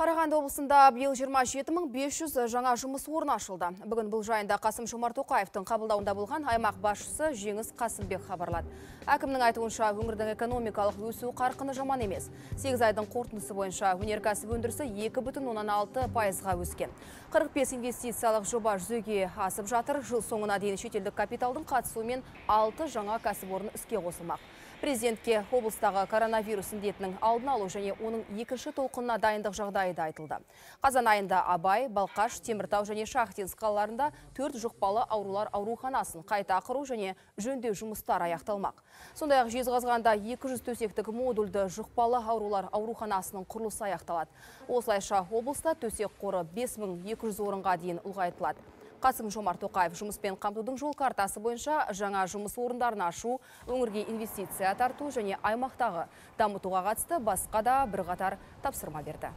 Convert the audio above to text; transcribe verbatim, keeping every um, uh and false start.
Қарағанды облысында биыл жиырма жеті мың бес жүз жаңа жұмыс орны ашылды. Бүгін бұл жайында Қасым-Жомарт Тоқаевтың қабылдауында болған аймақ басшысы Жеңіс Қасымбек хабарлады. Әкімнің айтуынша, өңірдің экономикалық өсу қарқыны жаман емес. сегіз айдың қорытындысы бойынша өнеркәсіп өндірісі екі бүтін оннан алты пайызға өскен. қырық бес инвестициялық жоба жүзеге асып жатыр. Жыл соңына дейін шетелдік капиталдың қатысуымен алты жаңа кәсіпорын іске қосылмақ. Президентке облыстағы коронавирус індетінің алдын алу және оның екінші толқынына дайындық жағдайы айтылды. Қазан айында Абай, Балқаш, Теміртау және Шахтинск қалаларында төрт жұқпалы аурулар ауруханасын қайта құру және жөндеу жұмыстары аяқталмақ. Сондай-ақ Жезқазғанда екі жүз төсектік модульді жұқпалы аурулар ауруханасының құрылысы аяқталады. Осылайша облыста төсек қоры бес мың екі жүз орынға дейін ұлғайтылады. Қасым-Жомарт Тоқаев жұмыспен қамтудың жол картасы бойынша жаңа жұмыс орындарын ашу, өңірге инвестиция тарту және аймақтағы дамытуға қатысты басқа да бірқатар тапсырма берді.